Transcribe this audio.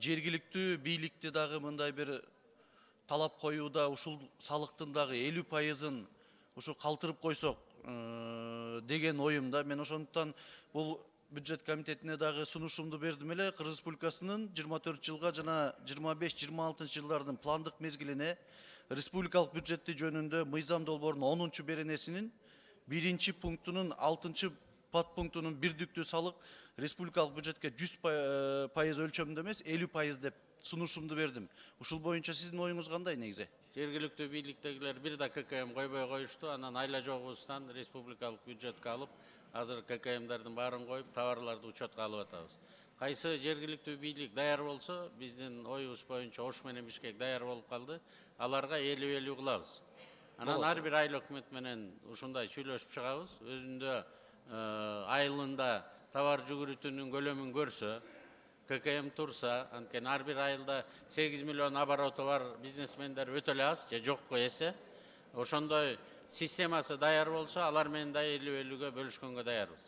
жергиликтүү бийликти дагы мындай бир талап коюуда ушул салыктын дагы 50%-ын ушу калтырып койсок деген оюмда. Мен ошондуктан бул бюджет комитетине дагы сунушумду бердим эле. Кыргыз Республикасынын 24 жылга жана 25-26 жылдардын пландык мезгилине республикалык бюджети жөнүндө мыйзам долбоорунун 10 беренесинин 1 пунктунун 6 подпунктунун бирдиктүү салык республикалык бюджетке 100% өлчөмүндө эмес 50% деп сунушумду бердим. Ушул боюнча сиздин оюңуз кандай негизи? Жергиликтүү бийликтегилер бир да ККМ койбой коюшту, анан айла жогубуздан республикалык бюджетке алып, азыр ККМдардын баарын коюп, товарларды учетко алып атабыз. Кайсы жергиликтүү бийлик даяр болсо, биздин оюбуз боюнча Ош менен Бишкек даяр болуп калды, аларга 50-50 кылабыз. Анан ар бир айыл өкмөт менен ушундай сүйлөшүп чыгабыз. Өзүндө айылында товар жүгүрүтүүнүн көлөмүн көрсө, ККМ турса, анткени ар бир айылда 8 миллион обороты бар бизнесмендер өтө эле аз, же жокко эсе. Ошондой системасы даяр болсо, алар менен да 50-50-ге бөлүшкөнгө даярбыз.